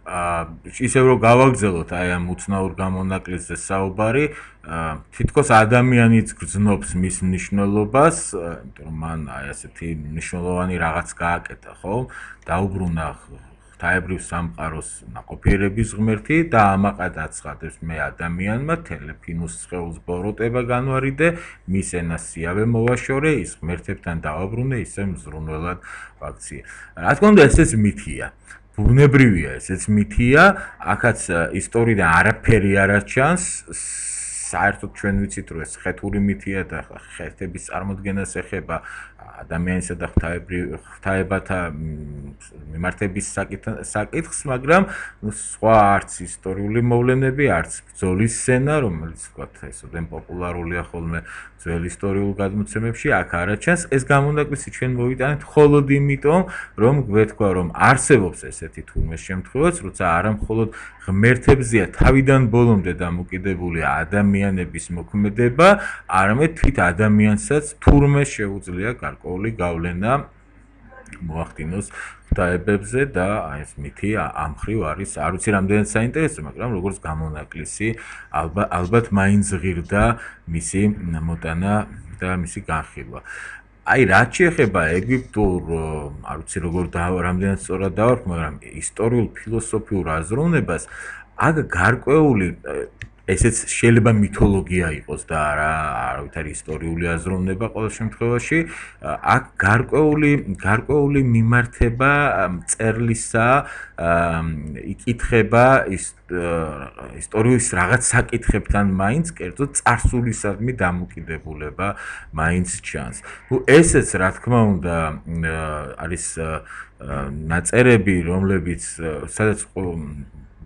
ისევ რომ გავაგრძელოთ აი ამ უცნაურ გამონაკლისზე საუბარი, თითქოს ადამიანიც გრძნობს მის მნიშვნელობას, იმიტომ რომ მან აი ასეთი მნიშვნელოვანი რაღაც გააკეთა, ხო? დაუბრუნა ღვთაებრივ სამყაროს ნაყოფიერების ღმერთი და ამაყად აცხადებს მე ადამიანმა თელეფინუს სხეულს ბოროტება განვარიდე, მის ენას სიავე მოვაშორე, ის ღმერთებთან დავაბრუნე, ისე მზრუნველად ვაქციე. რა თქმა უნდა, ესეც მითია. ბუნებრივია, ესეც მითია, აქაც ისტორიიდან არაფერი არ აჩანს. საერთოდ ჩვენ ვიცით, რომ ეს ხეთური მითია და ხეთების წარმოდგენას ეხება ადამიანისა და ღვთაებათა მიმართების საკითხს, მაგრამ სხვა არც ისტორიული მოვლენები, არც ბრძოლის სცენა, რომელიც ვთქვათ, ესოდენ პოპულარულია ხოლმე ძველ ისტორიულ გადმოცემებში, აქ არ აჩანს. ეს გამონაკლისი ჩვენ მოვიტანეთ მხოლოდ იმიტომ, რომ გვეთქვა, რომ არსებობს ესეთი თურმე შემთხვევაც, როცა არა მხოლოდ ღმერთებზეა თავიდან ბოლომდე დამოკიდებული ადამიანების მოქმედება, არამედ თვით ადამიანსაც თურმე შეუძლია გარკვეული გავლენა მოახდინოს ღვთაებებზე და აი ეს მითი ამ მხრივ არის, არ ვიცი რამდენად საინტერესო, მაგრამ როგორც გამონაკლისი ალბათ მაინც ღირდა მისი მოტანა და მისი განხილვა. აი რაც შეეხება ეგვიპტურ, არ ვიცი როგორ რამდენად სწორად დავარქ, მაგრამ ისტორიულ ფილოსოფიურ აზროვნებას, აქ გარკვეული ესეც შეიძლება მითოლოგია იყოს და არავითარი ისტორიული აზროვნება ყოველ შემთხვევაში, აქ გარკვეული მიმართება მწერლისა, იკითხება ისტორიის რაღაც საკითხებთან მაინც, კერძოდ წარსულისადმი დამოკიდებულება მაინც ჩანს. ესეც რა თქმა უნდა არის ნაწერები, რომლებიც სადაც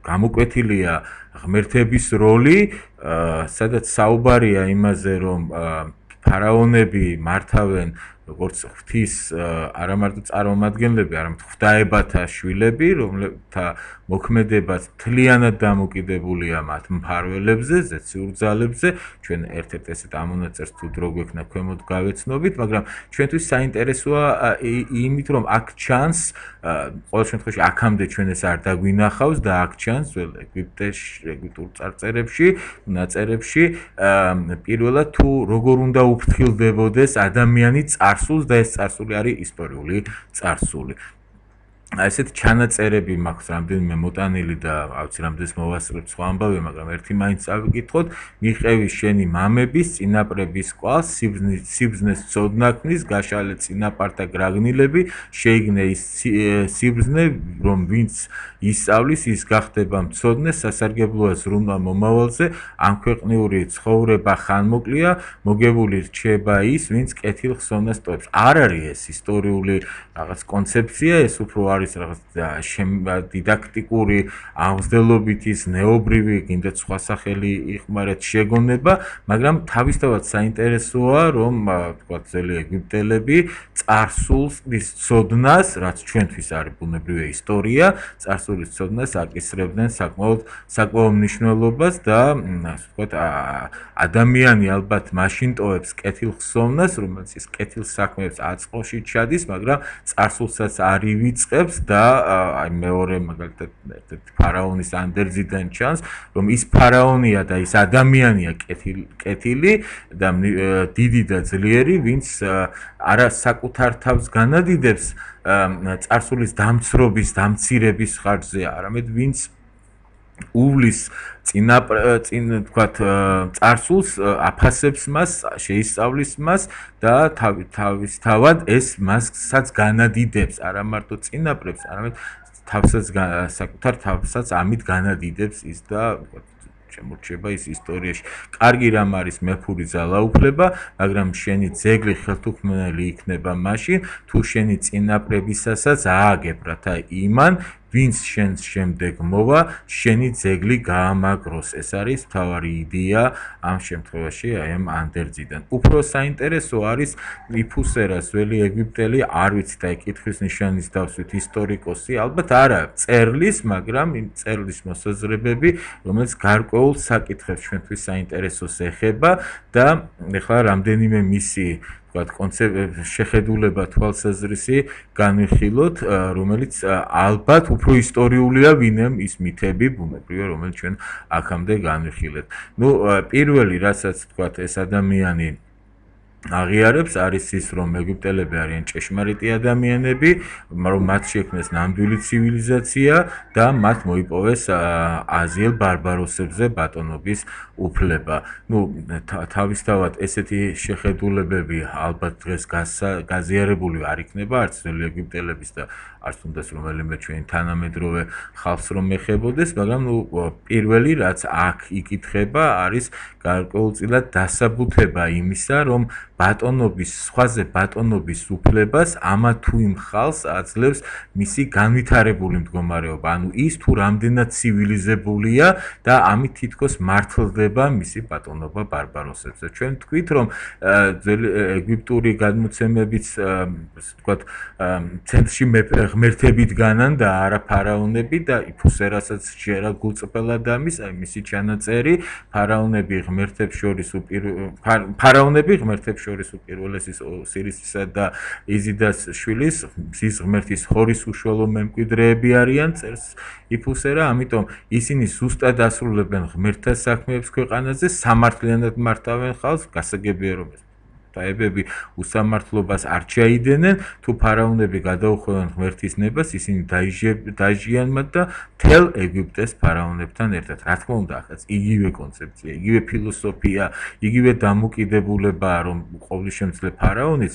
გამოკვეთილია ღმერთების როლი, სადაც საუბარია იმაზე, რომ ფარაონები მართავენ როგორც ღვთის არა მარტო წარმომადგენლები, არამედ ღვთაებათა შვილები, რომლებთა მოქმედებაც მთლიანად დამოკიდებულია მათ მფარველებზე, ზეციურ ძალებზე. ჩვენ ერთ-ერთ ესეთ ამონაწერს თუ დრო გვექნა ქვემოთ გავეცნობით, მაგრამ ჩვენთვის საინტერესოა იმით, რომ აქ ჩანს, ყოველ შემთხვევაში აქამდე ჩვენ ეს არ დაგვინახავს და აქ ჩანს ძველ ეგვიპტურ წარწერებში, ნაწერებში, პირველად თუ როგორ უნდა უფრთხილდებოდეს ადამიანი წარსულს და ეს წარსული არის ისტორიული წარსული. ესეთ ჩანაწერები მაქვს რამდენიმე მოტანილი და ავცი რამდენს მოვასწრებ სხვა ამბავი, მაგრამ ერთი მაინც წავიკითხოთ. მიყევი შენი მამების წინაპრების კვალს, სიბზნეს ცოდნაქმნის, გაშალე წინაპართა გრაგნილები, შეიგნე ის სიბზნე, რომ ვინც ისწავლის, ის გახდება მცოდნე, სასარგებლოა ზრუნვა მომავალზე, ამ ქვეყნიური ცხოვრება ხანმოკლეა, მოგებული რჩება ის, ვინც კეთილ ხსოვნას ტოვებს. არ არის ეს ისტორიული რაღაც კონცეფცია, ეს უფრო არის რაღაც დიდაქტიკური აღმზრდელობითი ზნეობრივი, კიდე სხვა სახელი იხმარეთ შეგონება, მაგრამ თავისთავად საინტერესოა, რომ თქვა ძველი ეგვიპტელები წარსულის ცოდნას, რაც ჩვენთვის არის ბუნებრივი ისტორია, წარსულის ცოდნას აკისრებდნენ საკმაოდ მნიშვნელობას და ასე ვთქვათ, ადამიანი ალბათ მაშინ ტოვებს კეთილ ხსოვნას, რომელიც ის კეთილ საქმეებს აწყოში ჩადის, მაგრამ წარსულსაც არ ივიწყებს და აი მეორე მაგალითად ერთ-ერთი ფარაონის ანდერძიდან ჩანს, რომ ის ფარაონია და ის ადამიანია კეთილი და დიდი და ძლიერი, ვინც არა საკუთარ თავს განადიდებს წარსულის დამცრობის, დამცირების ხარჯზე, არამედ ვინც უვლის თქვათ წარსულს, აფასებს მას, შეისწავლის მას და თავისთავად ეს მასაც განადიდებს, არა მარტო წინაპრებს, არამედ საკუთარ თავსაც ამით განადიდებს ის და შემორჩება ის ისტორიაში. კარგი რამ არის მეფური ძალაუფლება, მაგრამ შენი ძეგლი ხელთუქმნელი იქნება მაშინ, თუ შენი წინაპრებისასაც ააგებ, რათა იმან ვინც შენს შემდეგ მოვა, შენი ძეგლი გაამაგროს. ეს არის მთავარი იდეა ამ შემთხვევაში აი ამ ანდერძიდან. უფრო საინტერესო არის იფუსერას ძველი ეგვიპტელი, არ ვიცით აი კითხვის ნიშანის დავსვით ისტორიკოსი, ალბათ არა წერლის, მაგრამ იმ წერლის მოსაზრებები, რომელიც გარკვეულ საკითხებს ჩვენთვის საინტერესოს ეხება და ეხლა რამდენიმე მისი ვთქვათ, შეხედულება თვალსაზრისი განვიხილოთ, რომელიც ალბათ უფრო ისტორიულია, ვინმე ის მითები, ბუნებრივია, რომელიც ჩვენ აქამდე განვიხილეთ. ნუ პირველი, რასაც ვთქვათ, ეს ადამიანი აღიარებს არის ის, რომ ეგვიპტელები არიან ჭეშმარიტი ადამიანები, რომ მათ შექმნეს ნამდვილი ცივილიზაცია და მათ მოიპოვეს აზიელ ბარბაროსებზე ბატონობის უფლება. ნუ თავისთავად ესეთი შეხედულებები ალბათ დღეს გაზიარებული არ იქნება არც ძველი ეგვიპტელების და არც თუნდაც რომელიმე ჩვენი თანამედროვე ხალხს რომ ეხებოდეს, მაგრამ ნუ პირველი რაც აქ იკითხება არის გარკვეულწილად დასაბუთება იმისა, რომ ბატონობის სხვაზე ბატონობის უფლებას ამა თუ იმ ხალხს აძლევს მისი განვითარებული მდგომარეობა, ანუ ის თუ რამდენად ცივილიზებულია და ამით თითქოს მართლდება მისი ბატონობა ბარბაროსებზე. ჩვენ თქვით, რომ ეგვიპტური გადმოცემებიც, ვთქვათ, ცენტრში ღმერთები დგანან და არა ფარაონები და იფუსერასაც შეერა გულწრფელად ამის, აი მისი ჩანაწერი, ფარაონები ღმერთებს შორის უპირველესის ოსირისისა და იზიდას შვილის, მზის ღმერთის ჰორის უშუალო მემკვიდრეები არიან, წერს იფუსერა, ამიტომ ისინი ზუსტად ასრულებენ ღმერთთა საქმეებს ქვეყანაზე, სამართლიანად მართავენ ხალხს, გასაგებია რომ დაებები უსამართლობას არ ჩაიდენენ, თუ ფარაონები გადაუხვევენ ღმერთის ნებას, ისინი დაიჟიან მათ და მთელ ეგვიპტეს ფარაონებთან ერთად. რა თქმა უნდა, ახაც იგივე კონცეფცია, იგივე ფილოსოფია, იგივე დამოკიდებულებაა, რომ ყოვლისშემძლე ფარაონიც,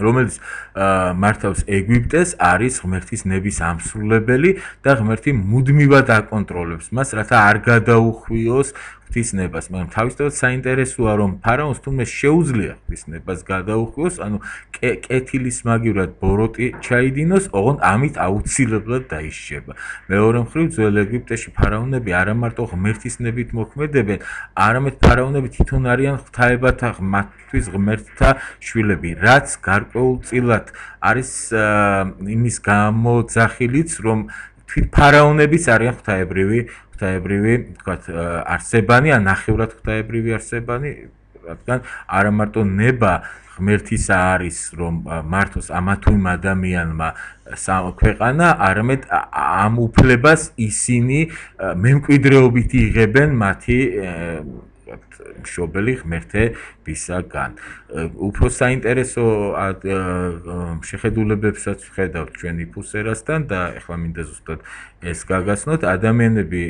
რომელიც მართავს ეგვიპტეს, არის ღმერთის ნების ამსრულებელი და ღმერთი მუდმივად აკონტროლებს მას, რათა არ გადაუხვიოს ღვთის ნებას, მაგრამ თავისთავად საინტერესოა, რომ ფარაონს თუნდაც შეუძლია ღვთის ნებას გადაუხვიოს, ანუ კეთილის მაგივრად ბოროტი ჩაიდინოს, ოღონდ ამით აუცილებლად დაიშება. მეორე მხრივ, ძველ ეგვიპტეში ფარაონები არა მარტო ღმერთის ნებით მოქმედებენ, არამედ ფარაონები თვითონ არიან ღვთაებათა, მათთვის ღმერთთა შვილები, რაც გარკვეულწილად არის იმის გამოძახილიც, რომ ფარაონებიც არიან ღვთაებრივი, ვთქვათ, არსებანი, ან ნახევრად ღვთაებრივი არსებანი, რადგან არა მარტო ნება ღმერთისა არის, რომ მართოს ამა თუ იმ ადამიანმა ქვეყანა, არამედ ამ უფლებას ისინი მემკვიდრეობით იღებენ მათი მშობელი ღმერთებისაგან. უფრო საინტერესო შეხედულებებსაც ვხედავთ ჩვენ იფუსერასთან და ეხლა მინდა ზუსტად ეს გაგაცნოთ. ადამიანები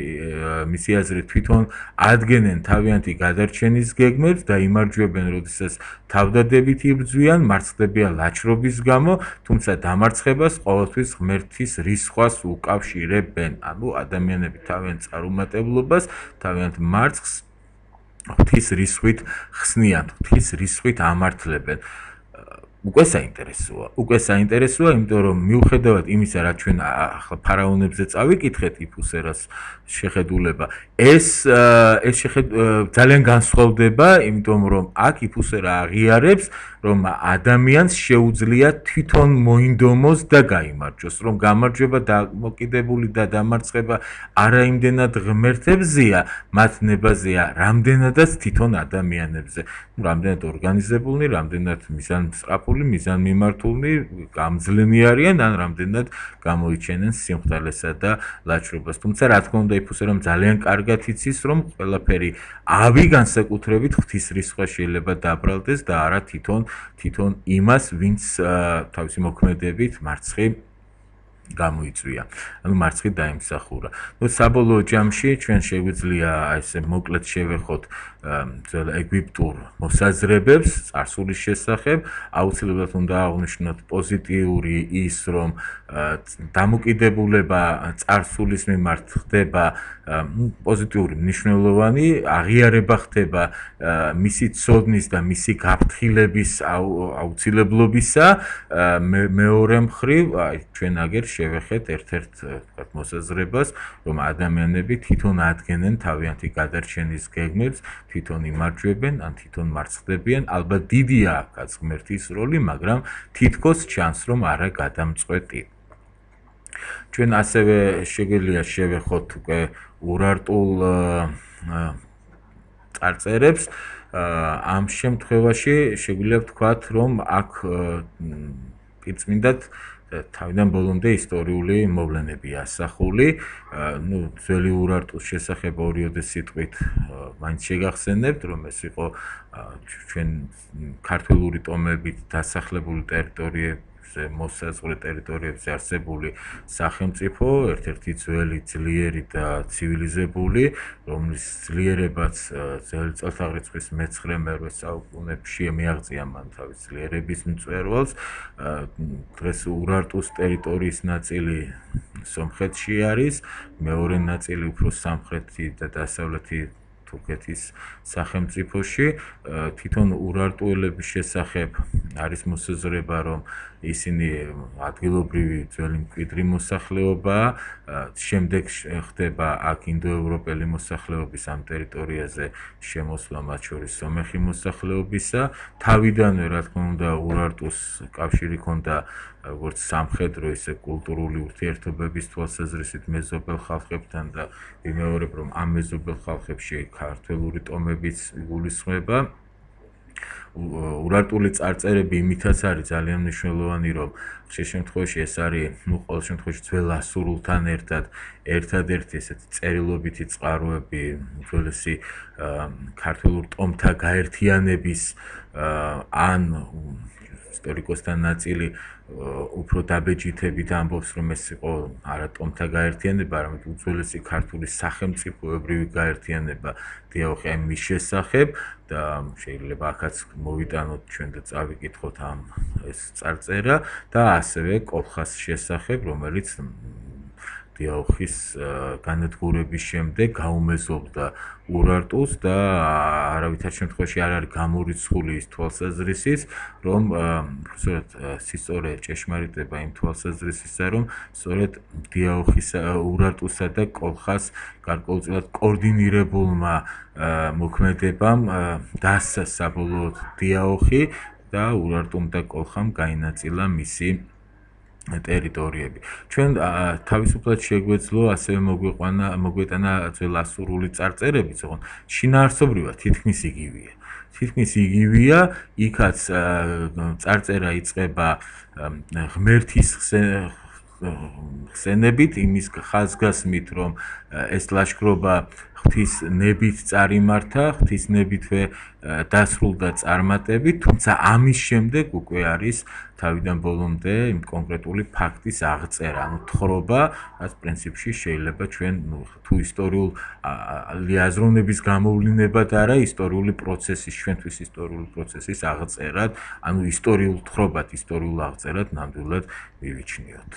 მისი აზრით თვითონ ადგენენ თავიანთი გადარჩენის გეგმებს და იმარჯვებენ, როდესაც თავდადებით იბრძვიან, მარცხდებიან ლაჩრობის გამო, თუმცა დამარცხებას ყოველთვის ღმერთის რისხვას უკავშირებენ. ანუ ადამიანები თავიანთ წარუმატებლობას, თავიანთ მარცხს ღვთის რისხვით ხსნიან, ღვთის რისხვით ამართლებენ. უკვე საინტერესოა, იმიტომ რომ მიუხედავად იმისა, რაც ჩვენ ახლა ფარაონებზე წავიკითხეთ იფუსერას შეხედულება, ეს ძალიან განსხვავდება, იმიტომ რომ აქ იფუსერა აღიარებს, რომ ადამიანს შეუძლია თვითონ მოინდომოს და გაიმარჯვოს, რომ გამარჯვება დამოკიდებული და დამარცხება არა იმდენად ღმერთებზეა, მათ ნებაზეა, რამდენადაც თვითონ ადამიანებზე. რამდენად ორგანიზებულნი, რამდენად მიზანმსწრაფული, მიზანმიმართულნი, გამძლენი არიან, ან რამდენად გამოიჩენენ სიმხდალესა და ლაჩრობას. თუმცა რა თქმა უნდა, იფუსერამ ძალიან კარგად იცის, რომ ყველაფერი ავი განსაკუთრებით ღვთის რისხვა შეიძლება დაბრალდეს და არა თვითონ იმას, ვინც თავისი მოქმედებით მარცხი გამოიწვია, ანუ მარცხი დაიმსახურა. ნუ საბოლოო ჯამში ჩვენ შეგვიძლია ესე მოკლედ შევეხოთ ძველ ეგვიპტურ მოსაზრებებს წარსულის შესახებ. აუცილებლად უნდა აღვნიშნოთ პოზიტიური ის, რომ დამოკიდებულება წარსულის მიმართ ხდება პოზიტიური, მნიშვნელოვანი, აღიარება ხდება მისი ცოდნის და მისი გაფრთხილების აუცილებლობისა. მეორე მხრივ, ჩვენ აგერ შევეხეთ ერთ-ერთ მოსაზრებას, რომ ადამიანები თვითონ ადგენენ თავიანთი გადარჩენის გეგმებს, თვითონ იმარჯვებენ, ან თვითონ მარცხდებიან. ალბათ დიდია აქაც ღმერთის როლი, მაგრამ თითქოს ჩანს, რომ არა გადამწყვეტი. ჩვენ ასევე შეგიძლია შევეხოთ უკვე ურარტულ წარწერებს, ამ შემთხვევაში შეგვიძლია ვთქვათ, რომ აქ პირწმინდად თავიდან ბოლომდე ისტორიული მოვლენები ასახული, ძველი ურარტუს შესახებ ორიოდე სიტყვით მაინც შეგახსენებთ, რომ ეს იყო ჩვენ ქართველური ტომებით დასახლებული ტერიტორიები მოსაზღვრე ტერიტორიებზე არსებული სახელმწიფო, ერთ-ერთი ძველი, ძლიერი და ცივილიზებული, რომლის ძლიერებაც ძველი წელთაღრიცხვის მე-9 საუკუნეებში მიაღწია მან თავის ძლიერების მწვერვალს. დღეს ურარტუს ტერიტორიის ნაწილი სომხეთში არის, მეორე ნაწილი უფრო სამხრეთი და დასავლეთი თურქეთის სახელმწიფოში. თვითონ ურარტუელების შესახებ არის მოსაზრება, რომ ისინი ადგილობრივი ძველი მკვიდრი მოსახლეობაა, შემდეგ ხდება აქ ინდოევროპელი მოსახლეობის ამ ტერიტორიაზე შემოსვლა, მათ შორის სომეხი მოსახლეობისა. თავიდანვე, რა თქმა უნდა, ურარტუს კავშირი ჰქონდა როგორც სამხედრო, ისე კულტურული ურთიერთობების თვალსაზრისით მეზობელ ხალხებთან და ვიმეორებ, რომ ამ მეზობელ ხალხებში ქართველური ტომებიც იგულისხმება. ურარტული წარწერები იმითაც არის ძალიან მნიშვნელოვანი, რომ ხშირ შემთხვევაში ეს არის, ყოველ შემთხვევაში ძველ ასურულთან ერთადერთი ესეთი წერილობითი წყაროები უძველესი ქართველურ ტომთა გაერთიანების ან ისტორიკოსთა ნაწილი უფრო დაბეჭითებით ამბობს, რომ ეს იყო არა ტომთა გაერთიანება, არამედ უძველესი ქართული სახელმწიფოებრივი გაერთიანება დიაოხი მის შესახებ და შეიძლება აქაც მოვიტანოთ ჩვენ და წავიკითხოთ ამ ეს წარწერა და ასევე კოლხას შესახებ, რომელიც დიაოხის განადგურების შემდეგ გაუმეზობდა ურარტუს და არავითარ შემთხვევაში არ არის გამორიცხული ის თვალსაზრისით, რომ სწორედ ჭეშმარიტება იმ თვალსაზრისისა, რომ სწორედ დიაოხისა, ურარტუსა და კოლხას გარკვეულწილად კოორდინირებულმა მოქმედებამ დასცა საბოლოოდ დიაოხი და ურარტუმ და კოლხამ გაინაწილა მისი ტერიტორიები. ჩვენ თავისუფლად შეგვეძლო ასევე მოგვეტანა ძველ ასურული წარწერები, თუმცა შინაარსობრივად თითქმის იგივეა. თითქმის იგივეა, იქაც წარწერა იწყება ღმერთის ხსენებით, იმის ხაზგასმით, რომ ეს ლაშქრობა ღვთის ნებით წარიმართა, ღვთის ნებითვე დასრულდა წარმატებით, თუმცა ამის შემდეგ უკვე არის თავიდან ბოლომდე იმ კონკრეტული ფაქტის აღწერა, ანუ თხრობა, რაც პრინციპში შეიძლება ჩვენ თუ ისტორიული აზროვნების გამოვლინებად არა, ისტორიული პროცესის, ჩვენთვის ისტორიული პროცესის აღწერად, ანუ ისტორიულ თხრობად, ისტორიულ აღწერად ნამდვილად მივიჩნიოთ.